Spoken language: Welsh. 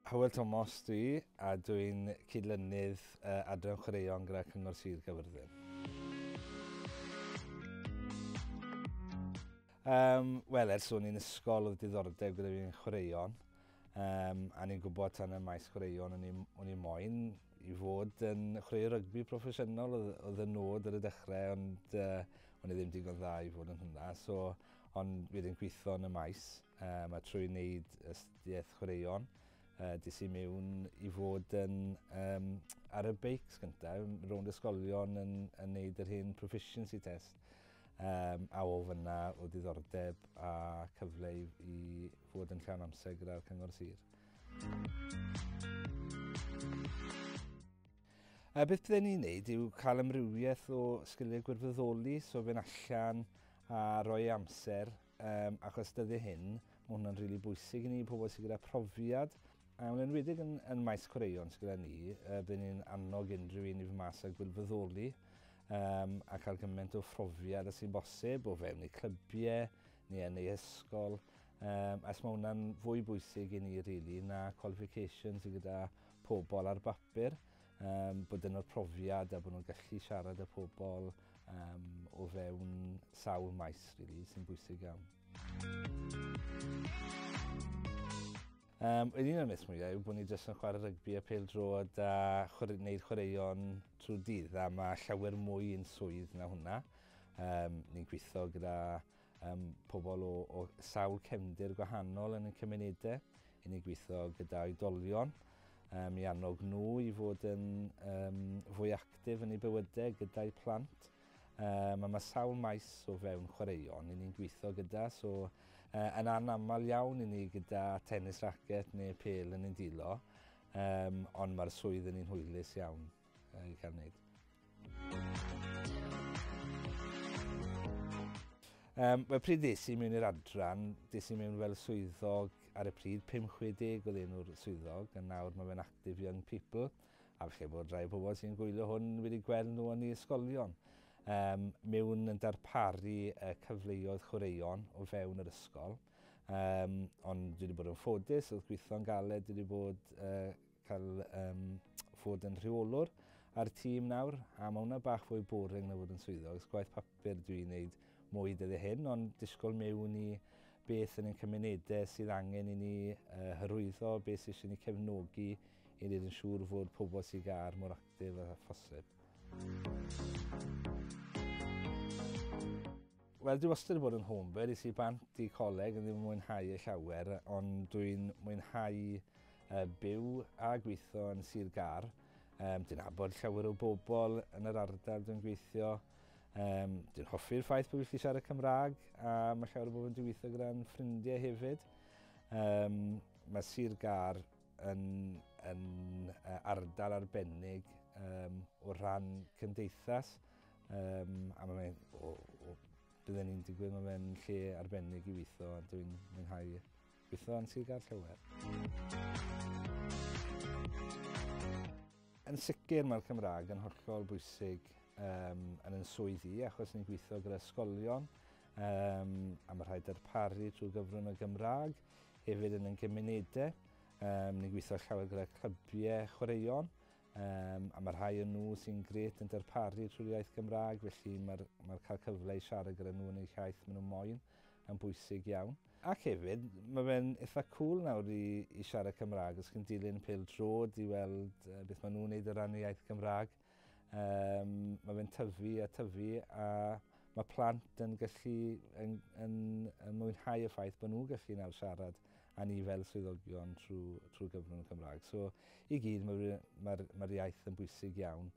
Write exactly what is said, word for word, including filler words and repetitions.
Hywel Thomas dwi, a dwi'n cydlynydd uh, adran chwaraeon gyda Cyngor Sir Gaerfyrddin. Um, Wel, ers o'n i'n ysgol oedd diddordeb gyda fi'n chwaraeon, um, a ni'n gwybod tan y maes chwaraeon o'n i moyn i fod yn chwarae rygbi proffesiynol oedd, oedd y nod ar y dechrau, ond uh, o'n i ddim digon dda i fod yn hwnna. So, ond wedyn gweithio yn y maes, um, a trwy wneud astudiaeth chwaraeon, Uh, des i mewn i fod yn, um, ar y beics gyntaf, rownd ysgolion yn, yn neud yr hen proficiency test. Um, a o fyna o diddordeb a cyfle i, i fod yn llawn amser gyda'r Cyngor Sir. Uh, beth bydden ni'n neud yw cael amrywiaeth o sgiliau gwirfoddoli, so fynd allan a rhoi amser, um, achos dyddiau hyn, mae hwnna'n rili bwysig i ni, pobl sydd gyda profiad. A yn enwedig yn, yn maes chwaraeon sydd gyda ni, uh, byddwn ni'n annog unrhyw un i fy mas a gwirfoddoli um, a cael gymaint o phrofiad as sy'n bosib o fewn eu clybiau neu yn eu ysgol. Um, as mae hwnna'n fwy bwysig i ni really, na qualifications sydd gyda pobl ar bapur, um, bod yno'r profiad a bod nhw'n gallu siarad â pobl um, o fewn sawl maes really, sy'n bwysig iawn. Um, un o'r myths mwyaf yw bod ni jyst yn chwarae rygbi a pêl-droed a chwarae, wneud chwaraeon trwy'r dydd, a mae llawer mwy yn swydd na hwnna. Um, ni'n gweithio gyda um, pobl o, o sawl cefndir gwahanol yn y cymunedau. Ni'n gweithio gyda oedolion um, i annog nhw i fod yn um, fwy actif yn eu bywydau gyda'u plant. Um, a mae sawl maes o fewn chwaraeon ni'n gweithio gyda, so uh, yn anaml iawn i ni gyda tennis racket neu pêl yn ein dilo, um, ond mae'r swydd yn un hwylus iawn uh, i cael wneud. Um, Wel, pryd des i mewn i'r adran, des i mewn fel swyddog ar y pryd, pum chwe deg oedd enw'r swyddog, a nawr mae fe'n Active Young People, a falle bod rai pobl sy'n gwylio hwn wedi gweld nhw yn eu ysgolion. Um, mewn yn darparu uh, cyfleoedd chwaraeon o fewn yr ysgol. Um, ond dwi wedi bod yn ffodus, oedd gweithio'n galed, dwi wedi bod uh, cael um, fod yn rheolwr ar tîm nawr, a mae hwnna bach fwy boring na fod yn swyddog. Gwaith papur dwi'n wneud mwy dyddiau hyn, ond disgwyl mewn i beth yn ein cymunedau sydd angen i ni uh, hyrwyddo, beth sydd eisiau ni cefnogi i wneud yn siŵr fod pobl sydd gar mor actif â phosib. Wel, dwi wastad wedi bod yn homebird, es i bant i coleg yn ddim yn mwynhau y llawer, ond dwi'n mwynhau uh, byw a gweithio yn Sir Gâr. Um, dwi'n nabod llawer o bobl yn yr ardal dwi'n gweithio. Um, dwi'n hoffi'r ffaith bod fi'n gallu siarad Cymraeg, a mae llawer o bobl yn gweithio gyda'n ffrindiau hefyd. Um, mae Sir Gâr yn, yn ardal arbennig um, o ran cymdeithas, um, a mae'n o, o, bydden ni'n digwydd, mae fe'n lle arbennig i weithio, a dwi'n mwynhau gweithio yn Sir Gâr llawer. Yn sicr mae'r Cymraeg yn hollol bwysig um, yn yn swydd i, achos ni'n gweithio gyda ysgolion, um, a mae rhaid darparu trwy gyfrwng y Gymraeg, hefyd yn ein cymunedau. Um, ni'n gweithio llawer gyda clybiau chwaraeon, um, a mae rhai o'n nhw sy'n grêt yn darparu trwy'r iaith Gymraeg, felly mae'r mae cael cyfle i siarad gyda nhw yn eu iaith maen nhw moyn yn bwysig iawn. Ac hefyd, mae fe'n eitha cool nawr i, i siarad Cymraeg, os chi'n dilyn pêl-droed i weld uh, beth maen nhw'n neud o ran y iaith Gymraeg. Um, mae fe'n tyfu a tyfu, a mae plant yn gallu yn, yn, yn mwynhau y ffaith bod nhw'n gallu nawr siarad a ni fel swyddogion trwy, trwy gyfrwng y Cymraeg. So, i gyd, mae'r mae, mae iaith yn bwysig iawn.